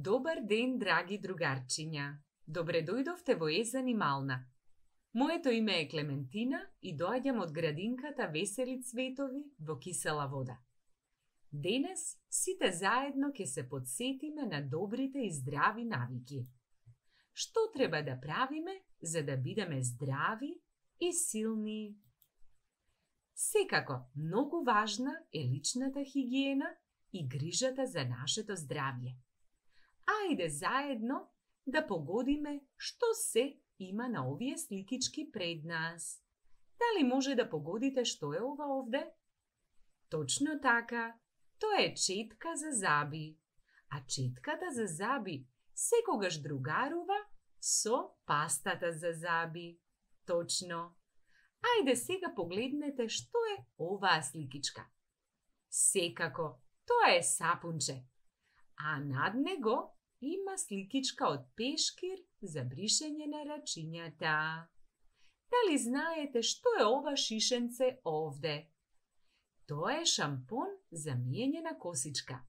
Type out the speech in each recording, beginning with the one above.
Добар ден, драги другарчиња. Добре дојдовте во Е занимална. Моето име е Клементина и доаѓам од градинката Весели цветови во Кисела вода. Денес сите заедно ќе се подсетиме на добрите и здрави навики. Што треба да правиме за да бидеме здрави и силни? Секако, многу важна е личната хигиена и грижата за нашето здравје. Ајде заедно да погодиме што се има на овие сликички пред нас. Дали може да погодите што е ова овде? Точно така, тоа е четка за заби. А четката за заби секогаш другарува со пастата за заби. Точно. Ајде сега погледнете што е оваа сликичка. Секако, тоа е сапунче. А над него има сликичка од пешкир за бришење на рачињата. Дали знаете што е ова шишенце овде? Тоа е шампон за миење на косичка.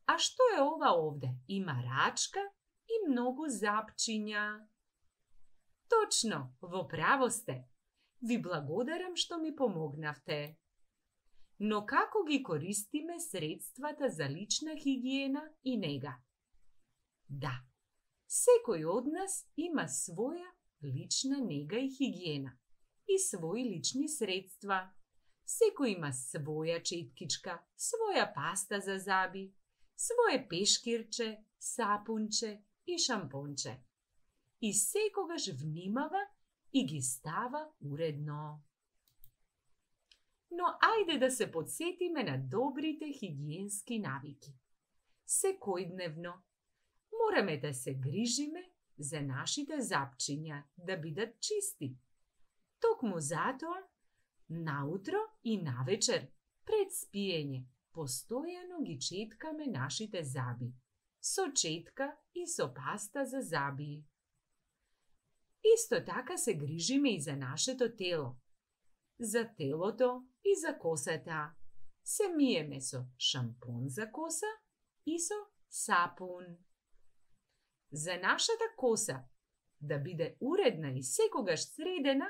А што е ова овде? Има рачка и многу запчиња. Точно, во право сте. Ви благодарам што ми помогнавте. Но како ги користиме средствата за лична хигиена и нега? Да, секој од нас има своја лична нега и хигиена и своји лични средства. Секој има своја четкичка, своја паста за заби, свое пешкирче, сапунче и шампонче. И секогаш внимава и ги става уредно. Но ајде да се подсетиме на добрите хигиенски навики. Секојдневно мораме да се грижиме за нашите запчиња да бидат чисти. Токму затоа, наутро и навечер, пред спиење, постојано ги четкаме нашите заби, со четка и со паста за заби. Исто така се грижиме и за нашето тело. За телото и за косата. Се миеме со шампон за коса и со сапун. За нашата коса да биде уредна и секогаш средена,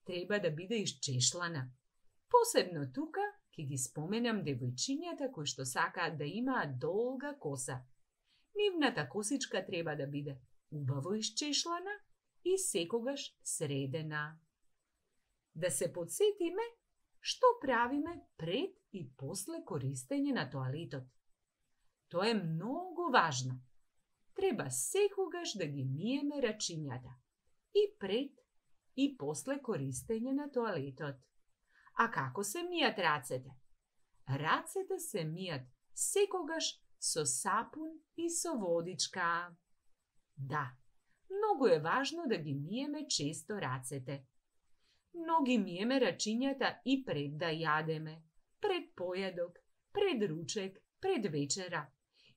треба да биде исчешлана. Посебно тука ќе ги споменам девојчињата кои што сакаат да имаат долга коса. Нивната косичка треба да биде убаво исчешлана и секогаш средена. Да се подсетиме што правиме пред и после користење на тоалетот. Тоа е многу важно. Треба секогаш да ги миеме рачињата и пред и после користење на тоалетот. А како се мијат рацете? Рацете се мијат секогаш со сапун и со водичка. Да, многу е важно да ги миеме често рацете. Но ги миеме рачињата и пред да јадеме, пред појадок, пред ручек, пред вечера,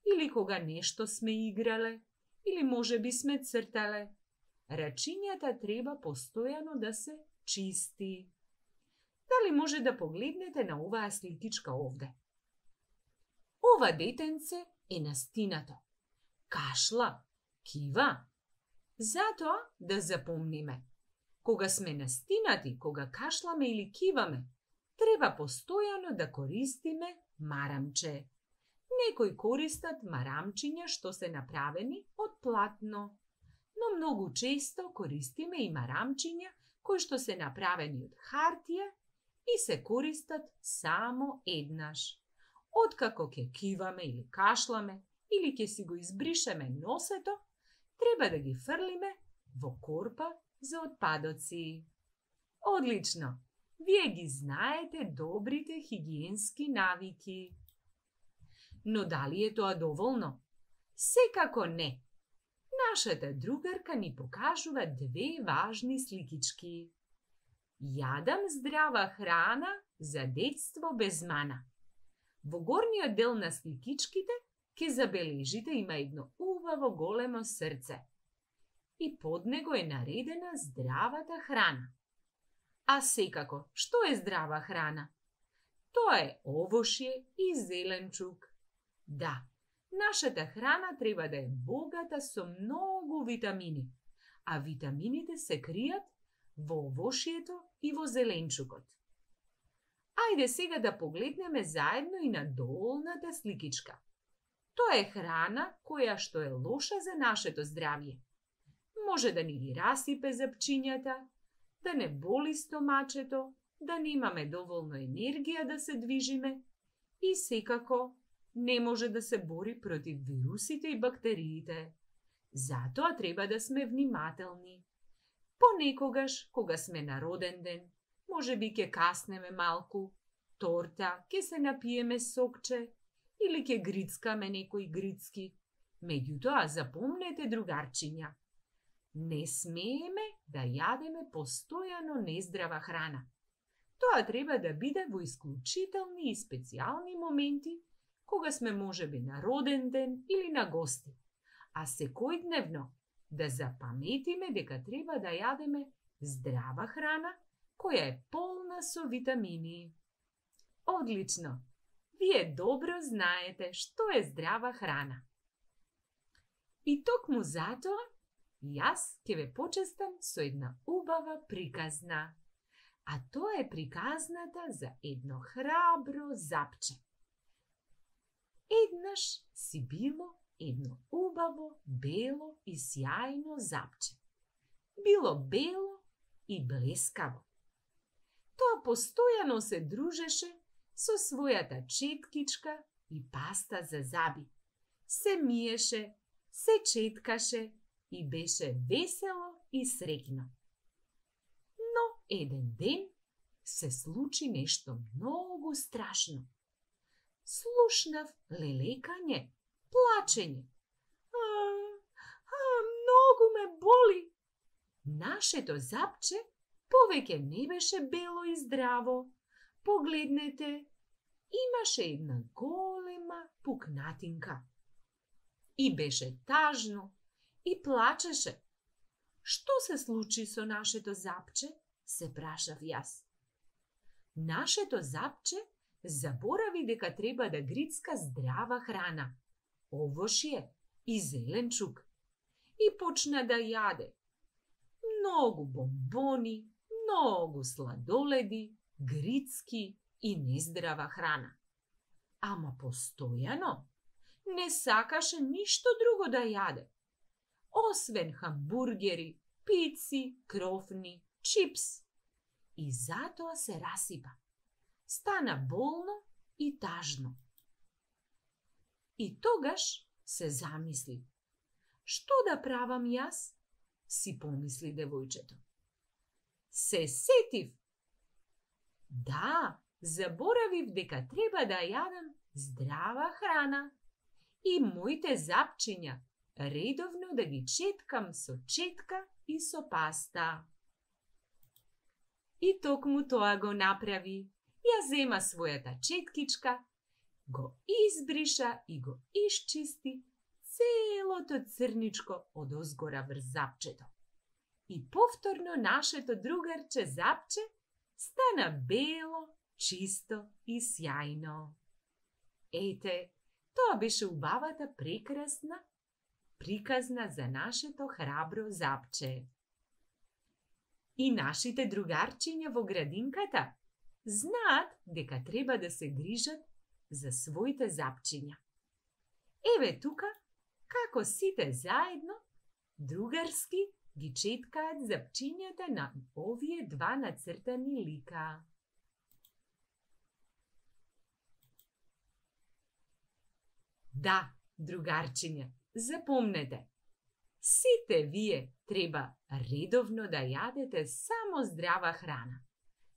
или кога нешто сме играле, или можеби сме цртале. Рачињата треба постојано да се чисти. Дали може да погледнете на оваа сликичка овде? Ова детенце е настинато. Кашла, кива. Затоа да запомниме. Кога сме настинати, кога кашламе или киваме, треба постојано да користиме марамче. Некои користат марамчиња што се направени од платно, но многу често користиме и марамчиња кои што се направени од хартија и се користат само еднаш. Откако ќе киваме или кашламе, или ќе си го избришеме носето, треба да ги фрлиме во корпа за отпадоци. Одлично! Вие ги знаете добрите хигиенски навики. Но дали е тоа доволно? Секако не. Нашата другарка ни покажува две важни сликички. Јадам здрава храна за детство без мана. Во горниот дел на сликичките ќе забележите има едно убаво големо срце. И под него е наредена здравата храна. А секако, што е здрава храна? Тоа е овошје и зеленчук. Да, Нашата храна треба да е богата со многу витамини, а витамините се кријат во овошјето и во зеленчукот. Ајде сега да погледнеме заедно и на долната сликичка. Тоа е храна која што е лоша за нашето здравје. Може да ни ги расипе запчињата, да не боли стомачето, да немаме доволно енергија да се движиме и секако не може да се бори против вирусите и бактериите. Затоа треба да сме внимателни. Понекогаш, кога сме на роден ден, може би ќе каснеме малку, торта, ќе се напиеме сокче или ќе грицкаме некои грицки. Меѓутоа, запомнете, другарчиња, не смееме да јадеме постојано нездрава храна. Тоа треба да биде во исклучителни и специјални моменти, кога сме можеби на роден ден или на гости, а секојдневно да запаметиме дека треба да јадеме здрава храна која е полна со витамини. Одлично! Вие добро знаете што е здрава храна. И токму затоа, јас ќе ве почестам со една убава приказна. А тоа е приказната за едно храбро запче. Еднаш си било едно убаво, бело и сјајно запче. Било бело и блескаво. Тоа постојано се дружеше со својата четкичка и паста за заби. Се миеше, се четкаше и беше весело и среќно. Но еден ден се случи нешто многу страшно. Слушнав лелекање, плачење. Многу ме боли. Нашето запче повеќе не беше бело и здраво. Погледнете, имаше една голема пукнатинка. И беше тажно и плачеше. Што се случи со нашето запче? Се прашав јас. Нашето запче заборави дека треба да грицка здрава храна, овошје и зеленчук, и почна да јаде многу бомбони, многу сладоледи, грицки и нездрава храна. Ама постојано не сакаше ништо друго да јаде, освен хамбургери, пици, крофни, чипс. И затоа се расипа. Стана болно и тажно. И тогаш се замисли. Што да правам јас? Си помисли девојчето. Се сетив. Да, заборавив дека треба да јадам здрава храна и моите запчиња редовно да ги четкам со четка и со паста. И токму тоа го направи. Ја зема својата четкичка, го избриша и го исчисти целото црничко од озгора врз запчето. И повторно нашето другарче запче стана бело, чисто и сјајно. Ете, тоа беше убавата прекрасна приказна за нашето храбро запче. И нашите другарчиња во градинката знаат дека треба да се грижат за своите запчиња. Еве тука, како сите заедно, другарски ги четкаат запчињата на овие два нацртани лика. Да, другарчиња, запомнете, сите вие треба редовно да јадете само здрава храна.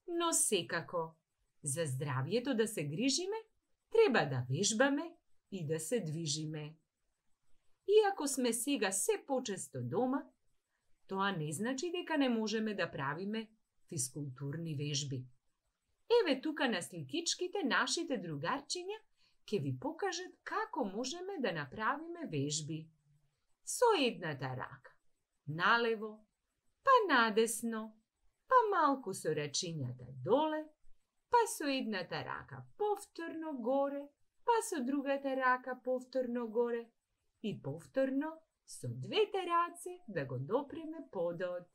Но секако, за здравјето да се грижиме, треба да вежбаме и да се движиме. Иако сме сега се почесто дома, тоа не значи дека не можеме да правиме физкултурни вежби. Еве тука на сликичките нашите другарчиња ќе ви покажат како можеме да направиме вежби. Со едната рака налево, па надесно, па малку со рачињата доле, па со едната рака повторно горе, па со другата рака повторно горе и повторно со двете раце да го допреме подот.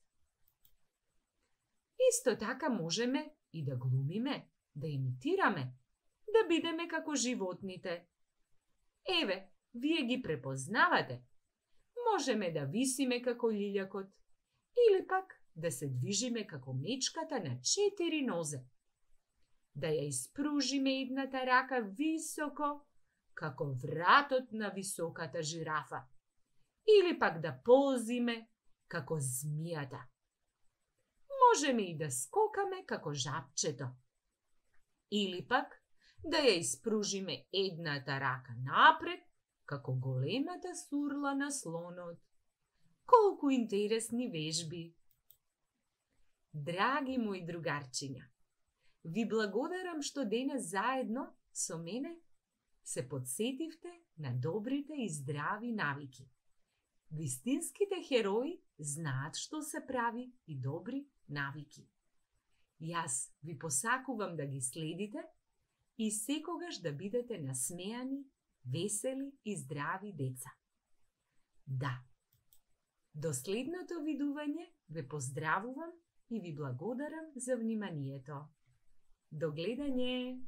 Исто така можеме и да глумиме, да имитираме, да бидеме како животните. Еве, вие ги препознавате. Можеме да висиме како лилјакот, или пак да се движиме како мечката на 4 нозе. Да ја испружиме едната рака високо, како вратот на високата жирафа. Или пак да ползиме како змијата. Можеме и да скокаме како жабчето. Или пак да ја испружиме едната рака напред, како големата сурла на слонот. Колку интересни вежби! Драги мои другарчиња, ви благодарам што денес заедно со мене се подсетивте на добрите и здрави навики. Вистинските херои знаат што се прави и добри навики. Јас ви посакувам да ги следите и секогаш да бидете насмеани, весели и здрави деца. Да, до следното видување ве поздравувам и ви благодарам за вниманието. До гледање!